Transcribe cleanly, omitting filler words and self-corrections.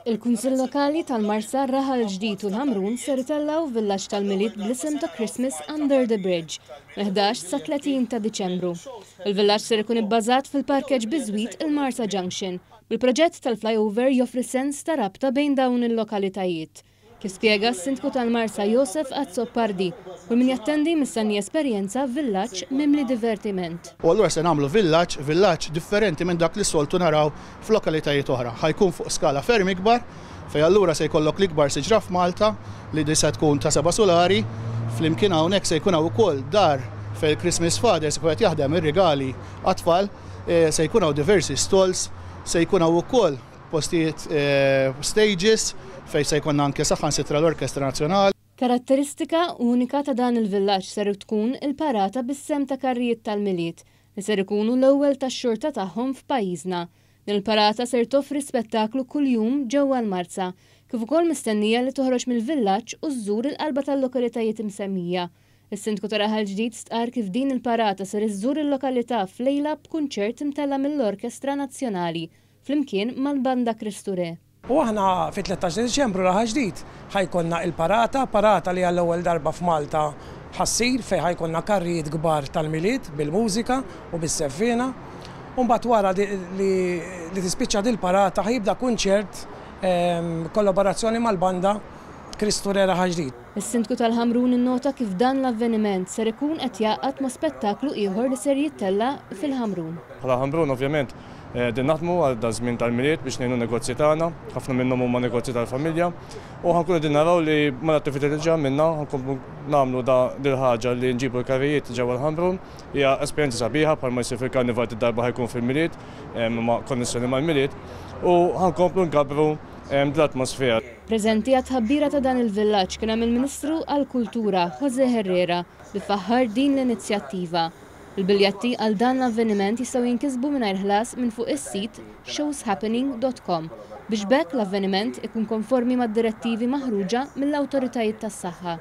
Il-Kunsill Lokali tal-Marsa, Raħal Ġdid u l-Ħamrun ser itellgħu villaġġ tal-Milied bl-isem ta' Christmas Under the Bridge mill-11 sa 30 ta' Diċembru. Il-villaġġ ser ikun ibbażat fil-parkeġġ biżwit il-Marsa Junction, bil-proġett tal-flyover joffri sens ta' rabta bejn dawn il-lokalitajiet. Kif spjega s-Sindku tal-Marsa Josef Azzopardi, kull min jattendi mistenni jesperjenza villaġġ mimli divertiment. U allura se nagħmlu villaġġ, villaġġ differenti minn dak li s-soltu naraw f'lokalitajiet oħra. Ħa jkun fuq skala ferm ikbar, fejn allura se jkollok l-ikbar siġra f'Malta li di se tkun ta' seba' sulari, flimkien hawnhekk se jkun hawn ukoll dar fejn il-Christmas Father se jkun qed jaħdem ir-rigali għat-tfal, se jkun hawn diversi stalls, se jkun hawn ukoll postijiet stages fejn se jkollna anke saħansitra l-Orkestra Nazzjonali. Karatteristika unika ta' dan il-villaġġ ser tkun il-parata bis-sehem ta' karrijiet tal-Milied li ser ikunu l-ewwel tax-xorta tagħhom f'pajjiżna. Din il-parata ser toffri spettaklu kuljum ġewwa l-Marsa, kif ukoll mistennija li toħroġ mill-villaġġ u żżur il-qalba tal-lokalitajiet imsemmija. Is-Sindku ta' Raħal Ġdid stqarr kif din il-parata ser iżżur il-lokalità f'lejla b'kunċert imtella' mill-Orkestra Nazzjonali flimkien mal-Banda Kristu Re. U aħna fit-13 ta' Diċembru Raħal Ġdid ħa jkollna il-parata, parata li għall-ewwel darba f'Malta ħa ssir fejn ħa jkollna karrijiet kbar tal-Milied bil-mużika u bis-seffiena. U mbagħad wara li tispiċċa dil-parata ħa jibda kunċert kollaborazzjoni mal-banda Kristu Re Raħal Ġdid. Is-Sindku tal-Ħamrun innota kif dan l-avveniment ser ikun qed jgħaqqad ma' spettaklu ieħor li ser jittella' fil-Ħamrun. Bħala Ħamrun ovvjament qegħdin naħdmu għal daż-żmien tal-Milied biex ngħinu n-negozji tagħna, ħafna minnhom huma negozji tal-familja u ħa nkunu qegħdin naraw li mal-attività li diġà għamilna ħa nkomplu nagħmlu dil-ħaġa li nġibu l-karrijiet ġewwa l-Ħamrun. Hija esperjenza sabiħa bħalma jsir fil-Karnival did-darba ħa jkun fil-Milied ma' konnessjoni mal-Milied u ħa nkomplu nkabbru dl-atmosfera. Preżenti għat-tħabbira ta' dan il-villaġġ kien hemm il-Ministru għall-Kultura, José Herrera, li faħħar din l-inizjattiva. Il-biljetti għal dan l-avveniment jistgħu jinkisbu mingħajr ħlas minn fuq is-sit showshappening dot com biex b'hekk l-avveniment ikun konformi mad-direttivi maħruġa mill-awtoritajiet tas-saħħa.